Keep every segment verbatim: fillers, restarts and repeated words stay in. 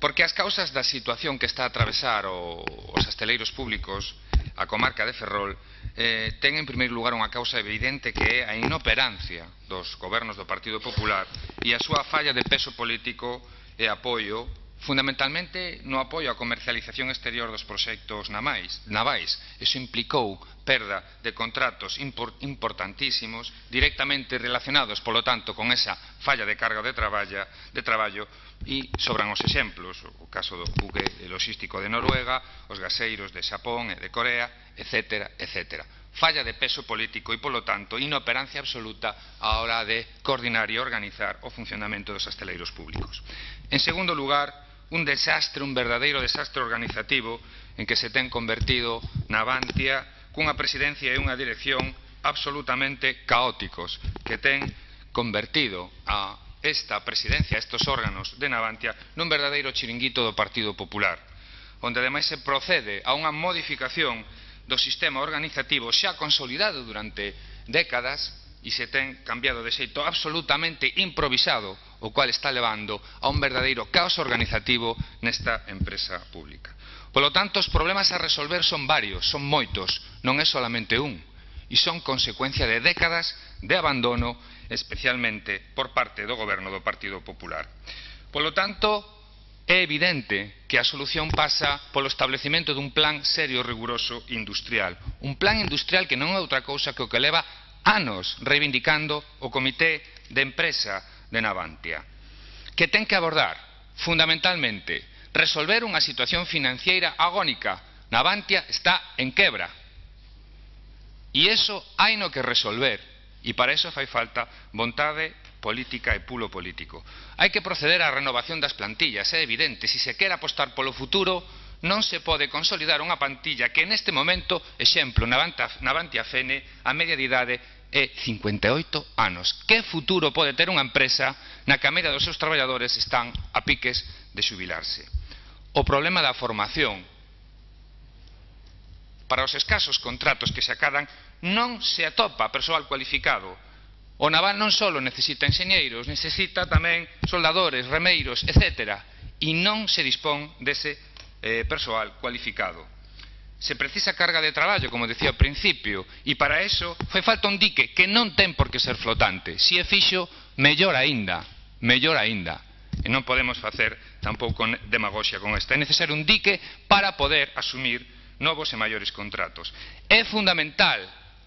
Porque as causas da situación que está a atravesar o, os asteleiros públicos, a comarca de Ferrol, eh, ten en primeiro lugar unha causa evidente que é a inoperancia dos gobernos do Partido Popular e a súa falla de peso político e apoio, fundamentalmente no apoio á comercialización exterior dos proxectos navais. Iso implicou perda de contratos importantísimos directamente relacionados, polo tanto, con esa falla de carga de traballo e sobran os exemplos, o caso do buque logístico de Noruega, os gaseiros de Xapón e de Corea, etcétera, etcétera. Falla de peso político e, polo tanto, inoperancia absoluta á hora de coordinar e organizar o funcionamento dos asteleiros públicos. En segundo lugar, un desastre, un verdadeiro desastre organizativo en que se ten convertido Navantia cunha presidencia e unha dirección absolutamente caóticos que ten convertido a esta presidencia, estes órganos de Navantia, nun verdadeiro chiringuito do Partido Popular, onde ademais se procede a unha modificación do sistema organizativo xa consolidado durante décadas e se ten cambiado de xeito absolutamente improvisado, o cual está levando a un verdadeiro caos organizativo nesta empresa pública. Polo tanto, os problemas a resolver son varios, son moitos, non é solamente un, e son consecuencia de décadas de abandono, especialmente por parte do goberno do Partido Popular. Polo tanto, é evidente que a solución pasa polo establecemento dun plan serio, riguroso e industrial. Un plan industrial que non é outra cousa que o que leva anos reivindicando o Comité de Empresa de Navantia, que ten que abordar, fundamentalmente, resolver unha situación financiera agónica. Navantia está en quebra. E iso hai no que resolver. E para iso fai falta vontade política e pulo político. Hai que proceder á renovación das plantillas, é evidente. Se se quere apostar polo futuro, non se pode consolidar unha plantilla que neste momento, exemplo, Navantia Fene, a media de idade é cincuenta e oito anos. Que futuro pode ter unha empresa na que a media dos seus traballadores están a piques de xubilarse? O problema da formación. Para os escasos contratos que se acadan, non se atopa persoal cualificado. O naval non só necesita enxeñeiros, necesita tamén soldadores, remeiros, etcétera. E non se dispón dese persoal cualificado. Se precisa carga de traballo, como decía ao principio, e para eso fai falta un dique que non ten por que ser flotante. Se é fixo, mellor aínda, mellor aínda. E non podemos facer tampouco demagoxia con esta. É necesario un dique para poder asumir novos e maiores contratos. É fundamental,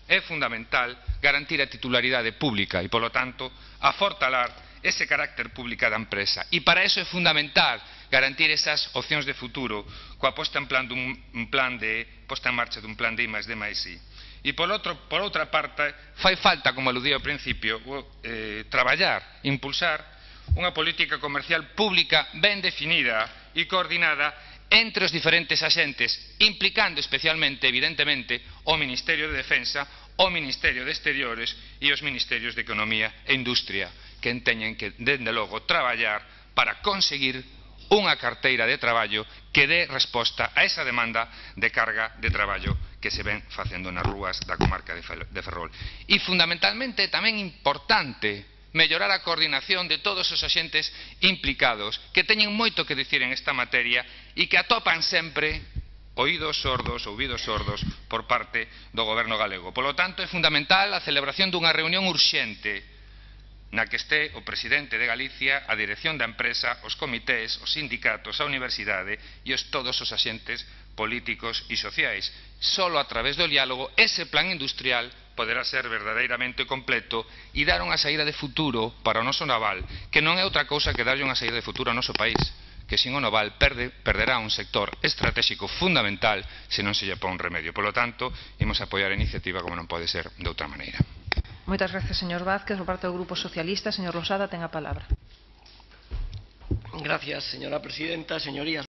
é fundamental garantir a titularidade pública e, polo tanto, afortalar ese carácter pública da empresa. E para eso é fundamental garantir esas opcións de futuro coa posta en plan dun plan de posta en marcha dun plan de I máis D máis I. E por outra parte, fai falta, como aludí ao principio, traballar, impulsar unha política comercial pública ben definida e coordinada entre os diferentes axentes, implicando especialmente, evidentemente, o Ministerio de Defensa, o Ministerio de Exteriores e os Ministerios de Economía e Industria, que teñen que, dende logo, traballar para conseguir unha carteira de traballo que dé resposta a esa demanda de carga de traballo que se ven facendo nas rúas da comarca de Ferrol. E, fundamentalmente, tamén importante mellorar a coordinación de todos os axentes implicados que teñen moito que dicir en esta materia e que atopan sempre oídos sordos, ouvidos sordos por parte do goberno galego. Polo tanto, é fundamental a celebración dunha reunión urxente na que este o presidente de Galicia, a dirección da empresa, os comités, os sindicatos, a universidade e os todos os axentes políticos e sociais. Solo a través do diálogo ese plan industrial poderá ser verdadeiramente completo e dar unha saída de futuro para o noso naval, que non é outra cousa que darlle unha saída de futuro ao noso país, que sin o naval perde, perderá un sector estratégico fundamental se non se lle pon remedio. Por lo tanto, imos apoiar a iniciativa como non pode ser de outra maneira. Moitas gracias, señor Vázquez. Por parte do Grupo Socialista, señor Losada, ten a palabra. Gracias, señora presidenta, señorías.